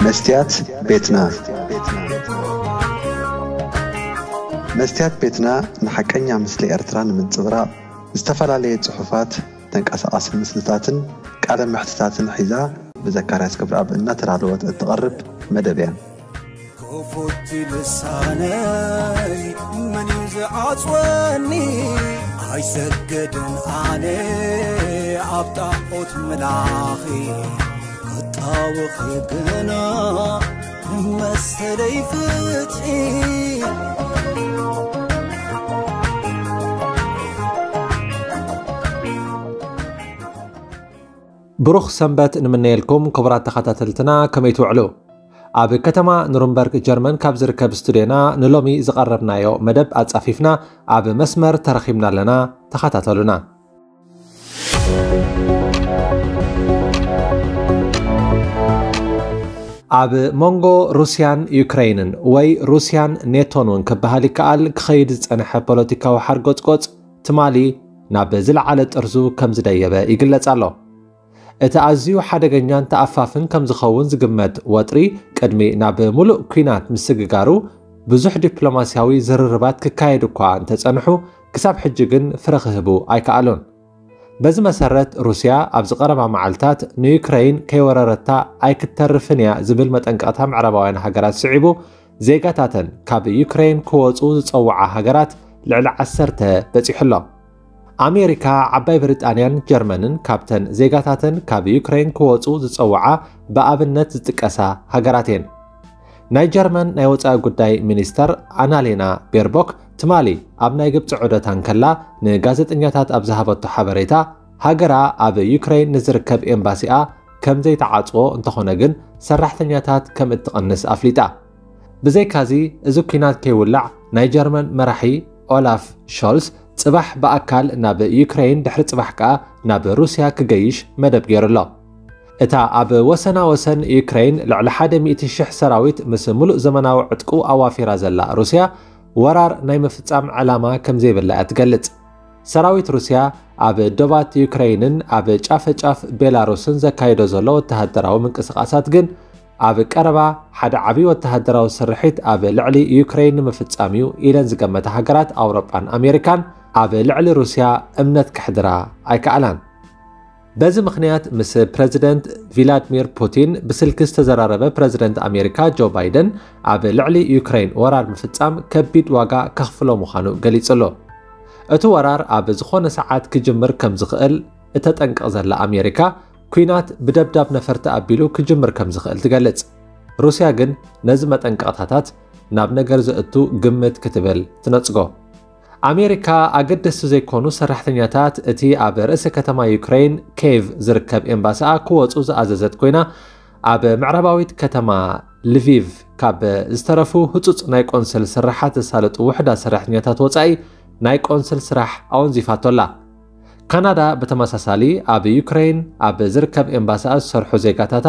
መስትያት ቤትና። መስትያት ቤትና ንሓቀኛ ምስሊ ኤርትራ ንምንጽብራቕ ዝተፈላለየ ጽሑፋት፣ ተንቀሳቓሲ ምስልታትን ቃለ መሕትታትን ሒዛ ብዘካርያስ ገብረኣብ እናተዳለወት እትቐርብ መደብ እያ። ክፉት ልሳነይ መን እዩ ዝዓጽወኒ? ኣይሰግድን ኣነ ኣብ ጣዖት ምላኺ፣ ክጣወኺ ግና መሰለይ ፍትሒ። ብሩኽ ሰንበት ንምነየልኩም ክቡራት ተኸታተልትና፣ ከመይ ትውዕሉ? ኣብ ከተማ ኑርንበርግ ጀርመን ካብ ዝርከብ ስቱድዮና ንሎሚ ዝቐረብናዮ መደብ ኣጻፊፍና ኣብ መስመር ተረኺብና ኣለና። ተኸታተሉና። ኣብ መንጎ ሩስያን ዩክረይንን ወይ ሩስያን ኔቶን እውን ክበሃል ይከኣል ክኸይድ ዝጸንሐ ፖለቲካዊ ሓርጎጽጎጽ ትማሊ ናብ ዝለዓለ ጥርዙ ከም ዝደየበ ይግለጽ ኣሎ። እቲ ኣዝዩ ሓደገኛን ተኣፋፍን ከም ዝኸውን ዝግመት ወጥሪ ቅድሚ ናብ ምሉእ ኲናት ምስግጋሩ ብዙሕ ዲፕሎማስያዊ ዝርርባት ክካየድ እኳ እንተጸንሑ ክሳብ ሕጂ ግን ፍረ ክህቡ ኣይከኣሉን። በዚ መሰረት ሩስያ ኣብዚ ቀረባ መዓልታት ንዩክረይን ከይወረረታ ኣይክተርፍን እያ ዝብል መጠንቀቕታ ምዕራባውያን ሃገራት ስዒቡ ዜጋታተን ካብ ዩክረይን ክወጹ ዝጸውዓ ሃገራት ልዕሊ ዓሰርተ በጺሑ ኣሎ። ኣሜሪካ፣ ዓባይ ብሪጣንያን ጀርመንን ካብተን ዜጋታተን ካብ ዩክረይን ክወጹ ዝጸውዓ ብኣብነት ዝጥቀሳ ሃገራት እየን። ናይ ጀርመን ናይ ወጻኢ ጉዳይ ሚኒስተር ኣናሌና ቤርቦክ ትማሊ ኣብ ናይ ግብጺ ዑደታ እንከላ ንጋዜጠኛታት ኣብ ዝሃበቶ ሓበሬታ፣ ሃገራ ኣብ ዩክረይን ንዝርከብ ኤምባሲኣ ከም ዘይተዓጽዎ እንተኾነ ግን ሰራሕተኛታት ከም እትቕንስ ኣፍሊጣ። ብዘይካዚ፣ እዚ ኲናት ከይውላዕ ናይ ጀርመን መራሒ ኦላፍ ሾልስ ጽባሕ ብኣካል ናብ ዩክረይን፣ ድሕሪ ጽባሕ ከኣ ናብ ሩስያ ክገይሽ መደብ ገይሩ ኣሎ። እታ ኣብ ወሰና ወሰን ዩክረይን ልዕሊ ሓደ ሚእቲ ሽሕ ሰራዊት ምስ ምሉእ ዘመናዊ ዕጥቁ ኣዋፊራ ዘላ ሩስያ፣ ወራር ናይ ምፍጻም ዕላማ ከም ዘይብላ እያ ትገልጽ። ሰራዊት ሩስያ ኣብ ዶባት ዩክረይንን ኣብ ጫፈ ጫፍ ቤላሩስን ዘካይዶ ዘሎ ወተሃደራዊ ምንቅስቓሳት ግን ኣብ ቀረባ ሓደ ዓቢ ወተሃደራዊ ስርሒት ኣብ ልዕሊ ዩክረይን ንምፍጻም እዩ ኢለን ዝገመታ ሃገራት ኣውሮጳን ኣሜሪካን ኣብ ልዕሊ ሩስያ እምነት ከሕድራ ኣይከኣላን። በዚ ምኽንያት ምስ ፕረዚደንት ቪላድሚር ፑቲን ብስልኪ ዝተዘራረበ ፕረዚደንት ኣሜሪካ ጆ ባይደን ኣብ ልዕሊ ዩክረይን ወራር ምፍጻም ከቢድ ዋጋ ከኽፍሎ ምዃኑ ገሊጹ ኣሎ። እቲ ወራር ኣብ ዝኾነ ሰዓት ክጅምር ከም ዝኽእል እተጠንቅቕ ዘላ ኣሜሪካ፣ ኲናት ብደብዳብ ነፈርቲ ኣቢሉ ክጅምር ከም ዝኽእል ትገልጽ። ሩስያ ግን ነዚ መጠንቀቕታታት ናብ ነገር ዘእቱ ግምት ክትብል ትነጽጎ። ኣሜሪካ ኣገደስቲ ዘይኮኑ ሰራሕተኛታት እቲ ኣብ ርእሰ ከተማ ዩክረይን ኬቭ ዝርከብ ኤምባሲኣ ክወጹ ዝኣዘዘት ኮይና፣ ኣብ ምዕራባዊት ከተማ ልቪቭ ካብ ዝተረፉ ህጹጽ ናይ ቆንስል ስርሓት ዘሳለጡ ውሑዳት ሰራሕተኛታት ወጻኢ ናይ ቆንስል ስራሕ ኣወንዚፋቶ ኣላ። ካናዳ ብተመሳሳሊ ኣብ ዩክረይን ኣብ ዝርከብ ኤምባሲኣ ዝሰርሑ ዜጋታታ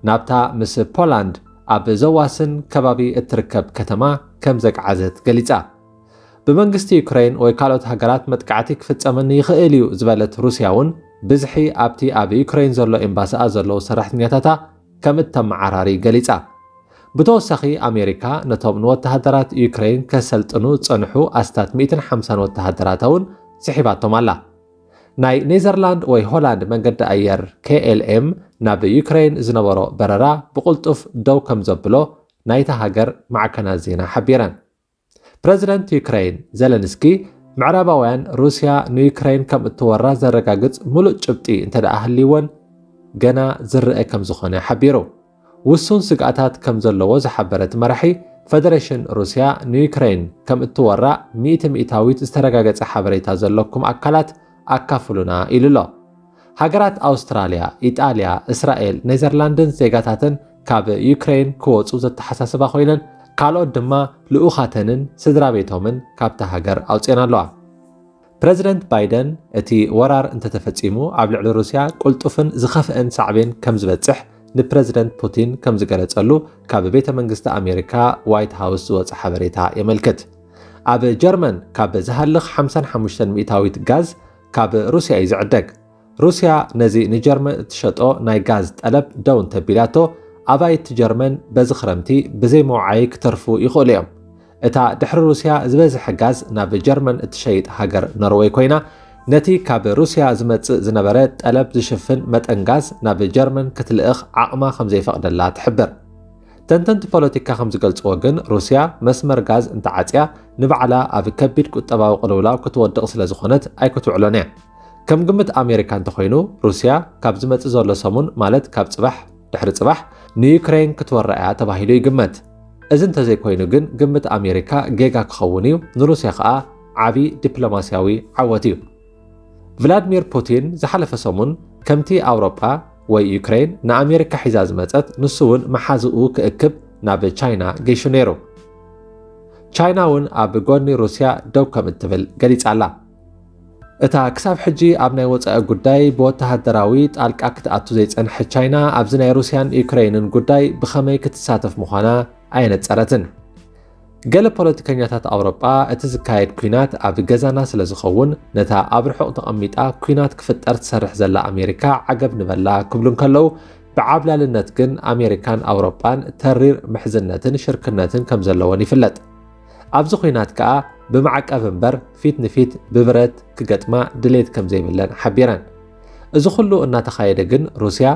ናብታ ምስ ፖላንድ ኣብ ዘዋስን ከባቢ እትርከብ ከተማ ከም ዘግዓዘት ገሊጻ። ብመንግስቲ ዩክረይን ወይ ካልኦት ሃገራት መጥቃዕቲ ክፍጸመኒ ይኽእል እዩ ዝበለት ሩስያ እውን ብዝሒ ኣብቲ ኣብ ዩክረይን ዘሎ ኤምባሲኣ ዘለዉ ሰራሕተኛታታ ከም እተመዓራሪ ገሊጻ። ብተወሳኺ ኣሜሪካ ነቶም ንወተሃደራት ዩክረይን ከሰልጥኑ ዝጸንሑ ኣስታት ሚእትን ሓምሳን ወተሃደራታ እውን ስሒባቶም ኣላ። ናይ ኔዘርላንድ ወይ ሆላንድ መንገዲ ኣየር ኬ ኤል ኤም ናብ ዩክረይን ዝነበሮ በረራ ብቕልጡፍ ደው ከም ዘብሎ ናይታ ሃገር ማዕከናት ዜና ሓቢረን። ፕረዚደንት ዩክረይን ዘለንስኪ፣ ምዕራባውያን ሩስያ ንዩክረይን ከም እትወራ ዘረጋግጽ ምሉእ ጭብጢ እንተ ደኣ ሃልይወን፣ ገና ዝረአ ከም ዝኾነ ሓቢሩ። ውሱን ስግኣታት ከም ዘለዎ ዝሓበረ እቲ መራሒ፣ ፈደረሽን ሩስያ ንዩክረይን ከም እትወራ ሚእቲ ሚእታዊት ዝተረጋገጸ ሓበሬታ ዘለኩም ኣካላት ኣካፍሉና ኢሉ ኣሎ። ሃገራት ኣውስትራልያ፣ ኢጣልያ፣ እስራኤል፣ ኔዘርላንድን ዜጋታተን ካብ ዩክረይን ክወጹ ዘተሓሳስባ ኮይነን፣ ካልኦት ድማ ልኡኻተንን ስድራ ቤቶምን ካብታ ሃገር ኣውጺኤን ኣለዋ። ፕረዚደንት ባይደን፣ እቲ ወራር እንተተፈጺሙ ኣብ ልዕሊ ሩስያ ቅልጡፍን ዝኸፍአን ሳዕቤን ከም ዝበጽሕ ንፕረዚደንት ፑቲን ከም ዝገለጸሉ ካብ ቤተ መንግስቲ ኣሜሪካ ዋይት ሃውስ ዝወጸ ሓበሬታ የመልክት። ኣብ ጀርመን ካብ ዝሃልኽ ሓምሳን ሓሙሽተን ሚእታዊት ጋዝ ካብ ሩስያ እዩ ዝዕደግ። ሩስያ ነዚ ንጀርመን እትሸጦ ናይ ጋዝ ጠለብ ደው እንተቢላቶ፣ ኣባይቲ ጀርመን በዚ ክረምቲ ብዘይ መውዓዪ ክተርፉ ይኽእሉ እዮም። እታ ድሕሪ ሩስያ ዝበዝሐ ጋዝ ናብ ጀርመን እትሸይጥ ሃገር ኖርወይ ኮይና፣ ነቲ ካብ ሩስያ ዝመጽእ ዝነበረ ጠለብ ዝሽፍን መጠን ጋዝ ናብ ጀርመን ክትልእኽ ዓቕማ ከም ዘይፈቕደላ ትሕብር። ተንተንቲ ፖለቲካ ከም ዝገልጽዎ ግን፣ ሩስያ መስመር ጋዝ እንተዓጽያ፣ ንባዕላ ኣብ ከቢድ ቁጠባዊ ቅልውላው ክትወድቕ ስለ ዝኾነት ኣይክትውዕሎን እያ። ከም ግምት ኣሜሪካ እንተኾይኑ፣ ሩስያ ካብ ዝመጽእ ዘሎ ሰሙን፣ ማለት ካብ ጽባሕ ድሕሪ ጽባሕ፣ ንዩክሬን ክትወራ እያ ተባሂሉ ይግመት። እዚ እንተዘይኮይኑ ግን፣ ግምት ኣሜሪካ ጌጋ ክኸውን እዩ፣ ንሩስያ ከኣ ዓቢ ዲፕሎማስያዊ ዓወት እዩ። ቭላድሚር ፑቲን ዝሓለፈ ሰሙን፣ ከምቲ ኣውሮጳ ወይ ዩክሬን ንኣሜሪካ ሒዛ ዝመጸት፣ ንሱ እውን መሓዝኡ ክእክብ ናብ ቻይና ገይሹ ነይሩ። ቻይና እውን ኣብ ጎኒ ሩስያ ደው ከም እትብል ገሊጻ ኣላ። እታ ክሳብ ሕጂ ኣብ ናይ ወጻኢ ጉዳይ ብወተሃደራዊ ጣልቃ ክትኣቱ ዘይጸንሐት ቻይና፣ ኣብዚ ናይ ሩስያን ዩክሬንን ጉዳይ ብኸመይ ክትሳተፍ ምዃና ኣየነጸረትን። ገለ ፖለቲከኛታት ኣውሮጳ፣ እቲ ዝካየድ ኲናት ኣብ ገዛና ስለ ዝኸውን፣ ነታ ኣብ ርሑቕ ተቐሚጣ ኲናት ክፍጠር ትሰርሕ ዘላ ኣሜሪካ ዓገብ ንበላ ክብሉ እንከለዉ፣ ብዓብላልነት ግን ኣሜሪካን ኣውሮጳን ተሪር ምሕዝነትን ሽርክነትን ከም ዘለወን ይፍለጥ። ኣብዚ ኲናት ከኣ ብማዕቀብ እምበር፣ ፊት ንፊት ብብረት ክገጥማ ድሌት ከም ዘይብለን ሓቢረን። እዚ ኩሉ እናተኻየደ ግን፣ ሩስያ፣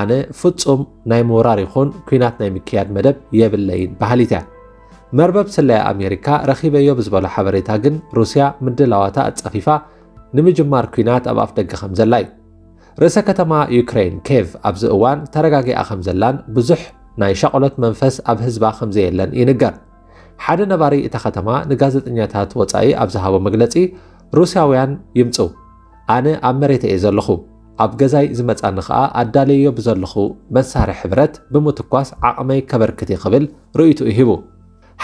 ኣነ ፍጹም ናይ ምውራር ይኹን ኲናት ናይ ምክያድ መደብ የብለይን በሃሊት እያ። መርበብ ስለያ ኣሜሪካ ረኺበዮ ብዝበሎ ሓበሬታ ግን፣ ሩስያ ምድላዋታ ኣጻፊፋ ንምጅማር ኲናት ኣብ ኣፍ ደገ ከም ዘላ እዩ። ርእሰ ከተማ ዩክሬን ኬቭ ኣብዚ እዋን ተረጋጊኣ ከም ዘላን ብዙሕ ናይ ሻቕሎት መንፈስ ኣብ ህዝባ ከም ዘየለን ይንገር። ሓደ ነባሪ እታ ከተማ ንጋዜጠኛታት ወጻኢ ኣብ ዝሃቦ መግለጺ፣ ሩስያውያን ይምጽኡ፣ ኣነ ኣብ መሬት እየ ዘለኹ፣ ኣብ ገዛይ ዝመጻኒ ከኣ ኣዳለዮ ብዘለኹ መሳርሒ ብረት ብምትኳስ ዓቕመይ ከበርክት እየ ክብል ርእይትኡ ሂቡ።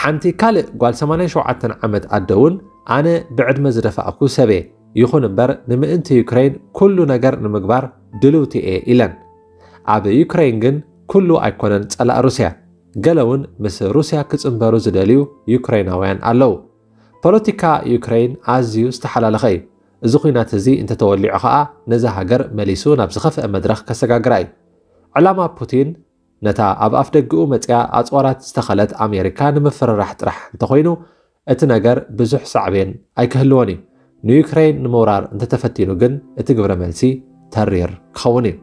ሓንቲ ካልእ ጓል ሰማንያን ሸውዓተን ዓመት ኣደ እውን፣ ኣነ ብዕድመ ዝደፋእኩ ሰብ እየ፣ ይኹን እምበር ንምእንቲ ዩክሬን ኩሉ ነገር ንምግባር ድልውቲ እየ ኢለን። ኣብ ዩክሬን ግን ኩሉ ኣይኮነን ጸላእ ሩስያ። ገለ እውን ምስ ሩስያ ክጽንበሩ ዝደልዩ ዩክሬናውያን ኣለዉ። ፖለቲካ ዩክሬን ኣዝዩ ዝተሓላለኸ እዩ። እዚ ኲናት እዚ እንተተወሊዑ ኸኣ ነዛ ሃገር መሊሱ ናብ ዝኸፍአ መድረኽ ከሰጋግራ እዩ። ዕላማ ፑቲን ነታ ኣብ ኣፍ ደገኡ መጽያ ኣጽዋራት ዝተኸለት ኣሜሪካ ንምፍርራሕ ጥራሕ እንተኾይኑ፣ እቲ ነገር ብዙሕ ሳዕቤን ኣይክህልዎን እዩ። ንዩክሬን ንምውራር እንተተፈቲኑ ግን፣ እቲ ግብረ መልሲ ተሪር ክኸውን እዩ።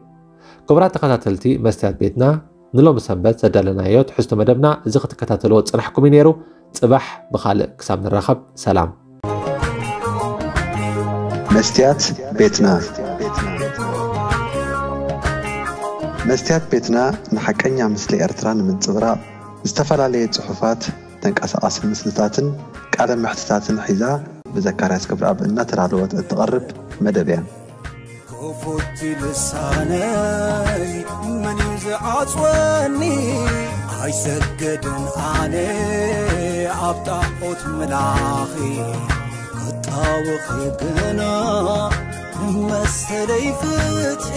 ክቡራት ተኸታተልቲ መስትያት ቤትና፣ ንሎሚ ሰንበት ዘዳለናዮ ትሕዝቶ መደብና እዚ ክትከታተልዎ ዝጸናሕኩም እዩ ነይሩ። ጽባሕ ብኻልእ ክሳብ ንራኸብ፣ ሰላም። መስትያት ቤትና። መስትያት ቤትና ንሓቀኛ ምስሊ ኤርትራ ንምንጽብራቕ፣ ዝተፈላለየ ጽሑፋት፣ ተንቀሳቓሲ ምስልታትን ቃለ መሕትታትን ሒዛ ብዘካርያስ ክብረኣብ እናተዳለወት እትቐርብ መደብ እያ። ክፉት ልሳነይ መን እዩ ዝዓጽወኒ? ኣይሰግድን ኣነ ኣብ ጣዖት ምላኺ፣ ክጣወኺ ግና መሰለይ ፍትሒ።